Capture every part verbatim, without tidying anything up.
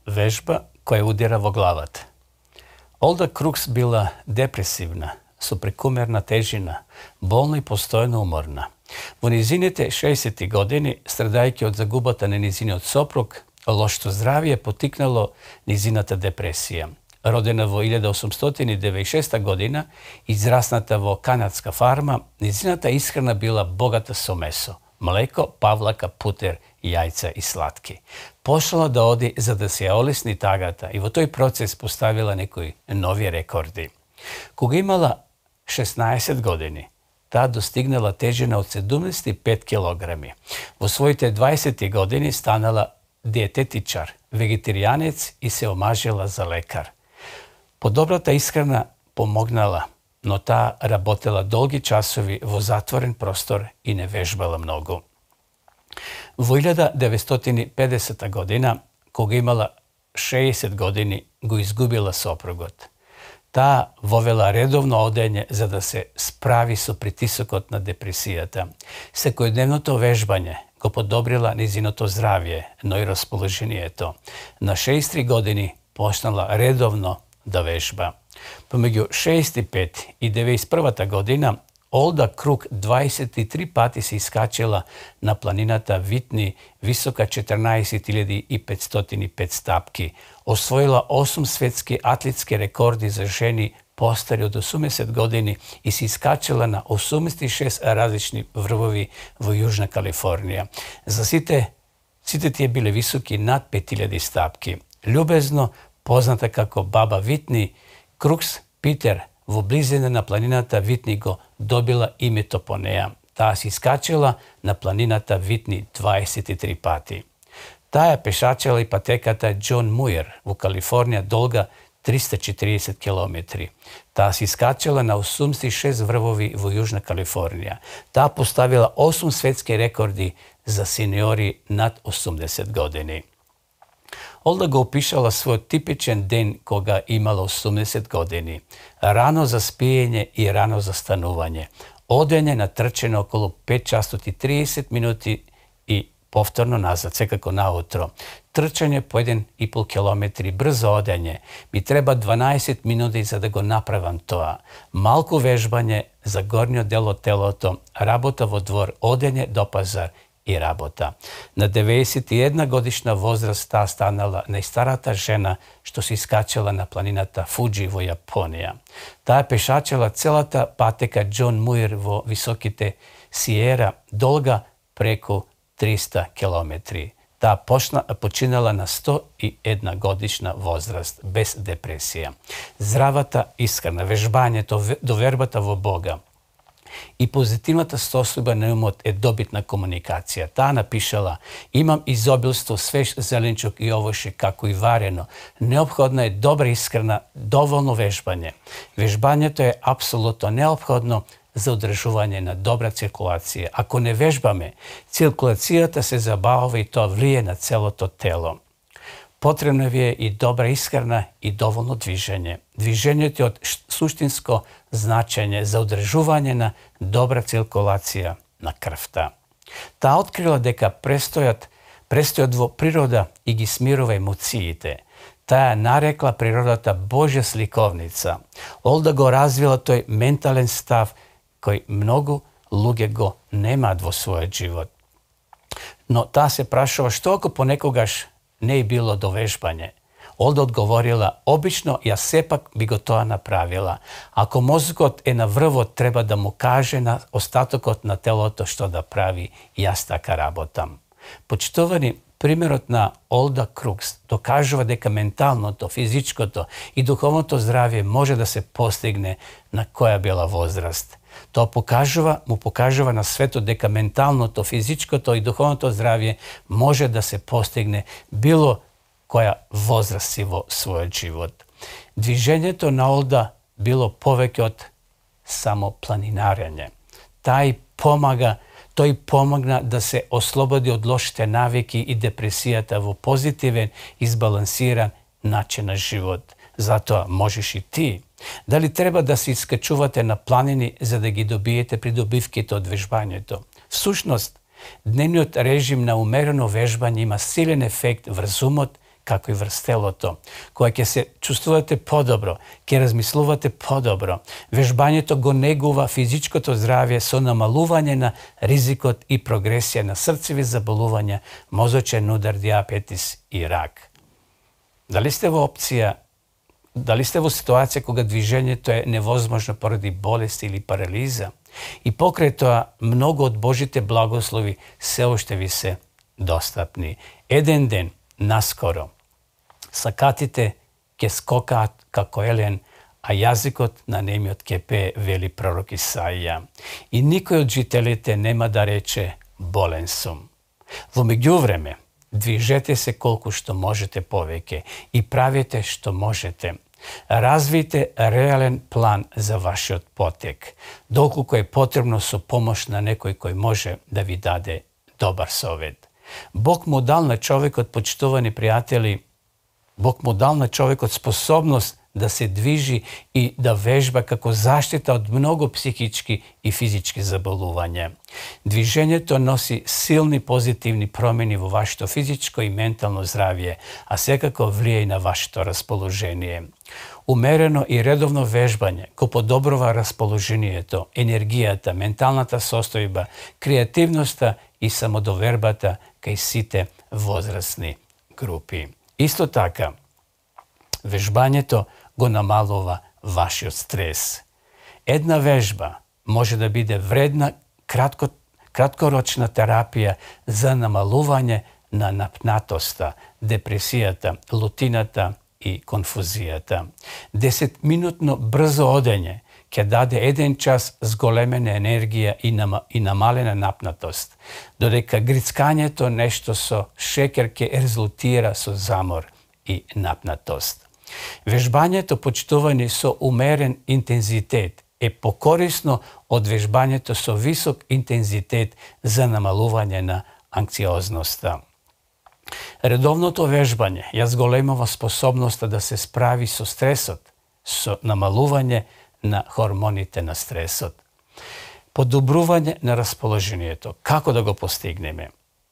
Вежба која удира во главата. Олда Крукс била депресивна, со прекумерна тежина, болна и постојано уморна. Во низините шеесетти години, страдајќи од загубата на низиниот сопруг, лошото здравје потикнало низината депресија. Родена во илјада осумстотини девеdeset и шеста година, израсната во канадска фарма, низината исхрана била богата со месо, млеко, павлака, путер, јајца и сладки. Пошла да оди за да се олесни тагата и во тој процес поставила некои нови рекорди. Кога имала шеснаесет години, таа достигнала тежина од седумдесет и пет килограми. Во своите дваесетти години станала диететичар, вегетаријанец и се омажила за лекар. Подобрата исхрана помогнала, но таа работела долги часови во затворен простор и не вежбала многу. Во илјада деветстотини и педесета година, кога имала шеесет години, го изгубила сопругот. Таа вовела редовно одење за да се справи со притисокот на депресијата. Секојдневното вежбање го подобрила низиното здравје, но и расположението. На шеесет и три години почнала редовно да вежба. Помеѓу шеесет и пет и деветдесет и првата година, Олда Крук дваесет и три пати се искачила на планината Витни, висока четрнаесет илјади и петстотини и пет стапки. Освоила осум светски атлетски рекорди за жени постари од осумдесет години и се искачила на осумдесет и шест различни врвови во Јужна Калифорнија. За сите, сите тие биле високи над пет илјади стапки. Љубезно позната како баба Витни, Крукс Питер во близина на планината Витни го добила името по неа. Таа се искачила на планината Витни дваесет и три пати. Таа пешачила и патеката Џон Муир во Калифорнија долга триста и четириесет километри. Таа се искачила на осумдесет и шест врвови во Јужна Калифорнија. Таа поставила осум светски рекорди за сениори над осумдесет години. Олда го опишала својот типичен ден кога имала осумдесет години. Рано за спиење и рано за станување. Одење на трчење околу пет часот и триесет минути и повторно назад, секако наутро. Трчање по еден и пол километри, брзо одење. Ми треба дванаесет минути за да го направам тоа. Малку вежбање за горниот дел од телото, работа во двор, одење до пазар и работа. На деветдесет и една годишна возраст таа станала најстарата жена што се искачала на планината Фуџи во Јапонија. Таа пешачела целата патека Џон Муир во високите Сиера, долга преку триста километри. Таа почна, починала на сто и една годишна возраст, без депресија. Здравата исхрана, вежбањето, довербата во Бога и позитивната состојба на умот е добитна комуникација. Таа напишала: имам изобилство свеж зеленчук и овошје, како и варено. Неопходна е добра исхрана, доволно вежбање. Вежбањето е апсолутно неопходно за одржување на добра циркулација. Ако не вежбаме, циркулацијата се забавува и тоа влие на целото тело. Потребна ви е и добра исхрана и доволно движење. Движењето е од суштинско значење за одржување на добра циркулација на крвта. Таа открила дека престојат, престојат во природа и ги смирува емоциите. Таа нарекла природата Божја сликовница. Олда го развила тој ментален став кој многу луѓе го немаат во својот живот. Но таа се прашува што ако понекогаш не е било довежбање. Олда одговорила: обично јас сепак би го тоа направила. Ако мозокот е на врвот, треба да му каже на остатокот на телото што да прави, јас така работам. Почитувани, примерот на Олда Крукс докажува дека менталното, физичкото и духовното здравје може да се постигне на која била возраст. Тоа покажува, му покажува на светот дека менталното, физичкото и духовното здравје може да се постигне било која возраст си во својот живот. Движењето на Олда било повеќе од само планинарење. Тај помага, тој помогна да се ослободи од лошите навики и депресијата во позитивен и избалансиран начин на живот. Затоа можеш и ти. Дали треба да се искачувате на планини за да ги добиете придобивките од вежбањето? Всушност, дневниот режим на умерено вежбање има силен ефект врз умот како и врз телото, кога ќе се чувствувате подобро, ќе размислувате подобро. Вежбањето го негува физичкото здравје со намалување на ризикот и прогресија на срцеви заболувања, мозочен удар, дијабетис и рак. Дали сте во опција, дали сте во ситуација кога движењето е невозможно поради болест или парализа? И покрај тоа, многу од Божите благослови се уште ви се достапни. Еден ден, наскоро, сакатите ќе скокаат како елен, а јазикот на немиот ќе пее, вели пророк Исаија. И никој од жителите нема да рече болен сум. Во меѓувреме, движете се колку што можете повеќе и правете што можете. Развијте реален план за вашиот потек, доколку е потребно со помош на некој кој може да ви даде добар совет. Бог му дал на човекот, почитувани пријатели, Бог му дал на човекот способност да се движи и да вежба како заштита од многу психички и физички заболувања. Движењето носи силни позитивни промени во вашето физичко и ментално здравје, а секако влие и на вашето расположение. Умерено и редовно вежбање го подобрува расположението, енергијата, менталната состојба, креативноста и самодовербата кај сите возрастни групи. Исто така, вежбањето го намалува вашиот стрес. Една вежба може да биде вредна кратко, краткорочна терапија за намалување на напнатоста, депресијата, лутината и конфузијата. десетминутно брзо одење ќе даде еден час зголемена енергија и, нама, и намалена напнатост, додека грицкањето нешто со шекер ќе резултира со замор и напнатост. Вежбањето, почитувани со умерен интензитет, е покорисно од вежбањето со висок интензитет за намалување на анксиозноста. Редовното вежбање ја зголемува способноста да се справи со стресот, со намалување на хормоните на стресот. Подобрување на расположението. Како да го постигнеме?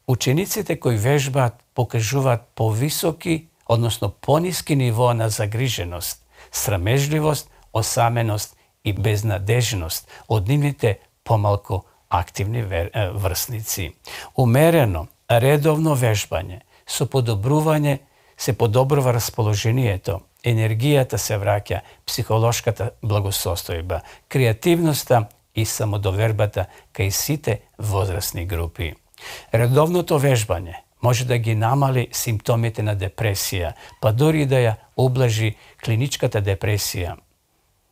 Учениците кои вежбаат покажуваат повисоки, односно пониски нивоа на загриженост, срамежливост, осаменост и безнадежност од нивните помалку активни врсници. Умерено, редовно вежбање со подобрување се подобрува расположението, енергијата се враќа, психолошката благосостојба, креативноста и самодовербата кај сите возрастни групи. Редовното вежбање може да ги намали симптомите на депресија, па дури да ја облажи клиничката депресија.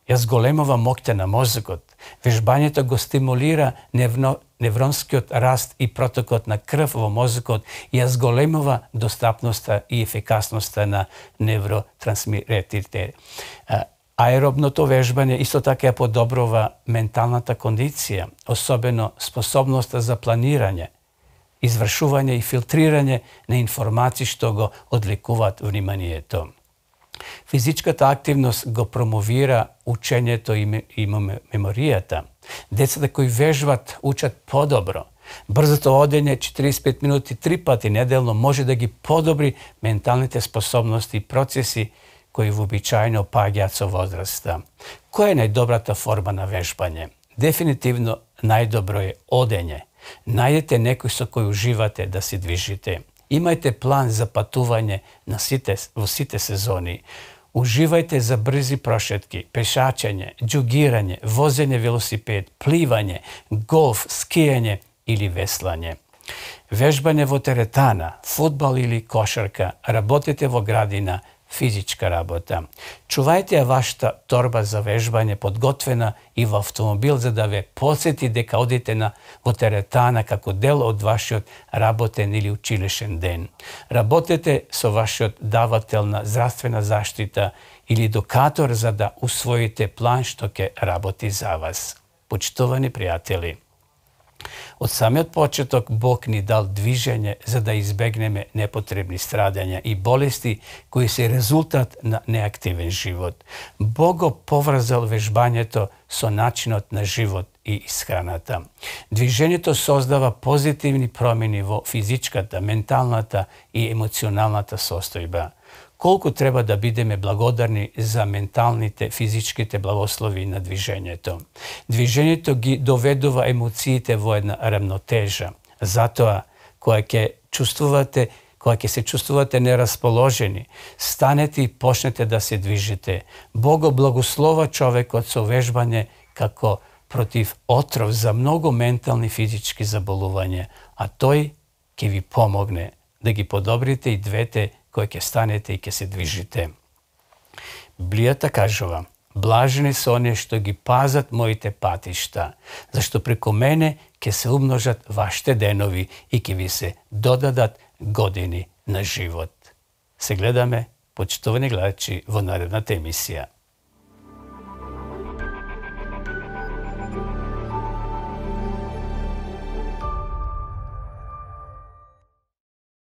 Ја зголемува моќта на мозокот. Вежбањето го стимулира невно, невронскиот раст и протокот на крв во мозокот и ја зголемува достапноста и ефикасноста на невротрансмитерите. Аеробното вежбање исто така ја подобрува менталната кондиција, особено способноста за планирање, извршување и филтрирање на информации што го одвлекуваат вниманието. Физичката активност го промовира учењето и меморијата. Децата кои вежбат учат подобро. Брзото одење четириесет и пет минути три пати неделно може да ги подобри менталните способности и процеси кои вообичаено паѓаат со возраста. Која е најдобрата форма на вежбање? Дефинитивно најдобро е одење. Најдете некој со кој уживате да се движите. Имајте план за патување на сите, во сите сезони. Уживајте за брзи прошетки, пешачење, џугирање, возење велосипед, пливање, голф, скијање или веслање. Вежбање во теретана, фудбал или кошарка, работете во градина, физичка работа. Чувајте ја вашата торба за вежбање подготвена и во автомобил за да ве подсети дека одите на во теретана како дел од вашиот работен или училишен ден. Работете со вашиот давател на здравствена заштита или едукатор за да усвоите план што ќе работи за вас. Почитувани пријатели, од самиот почеток Бог ни дал движење за да избегнеме непотребни страдања и болести кои се резултат на неактивен живот. Бог го поврзал вежбањето со начинот на живот и исхраната. Движењето создава позитивни промени во физичката, менталната и емоционалната состојба. Колку треба да бидеме благодарни за менталните, физичките благослови на движењето. Движењето ги доведува емоциите во една рамнотежа. Затоа, кога ќе чувствувате Кога ќе се чувствувате нерасположени, станете и почнете да се движите. Бог благослова човекот со вежбање како против отров за многу ментални физички заболувања, а тој ќе ви помогне да ги подобрите и двете кои ќе станете и ќе се движите. Библијата кажува: блажени се оние што ги пазат моите патишта, зашто преку мене ќе се умножат вашите денови и ќе ви се додадат години на живот. Се гледаме, почитувани гледачи, во наредната емисија.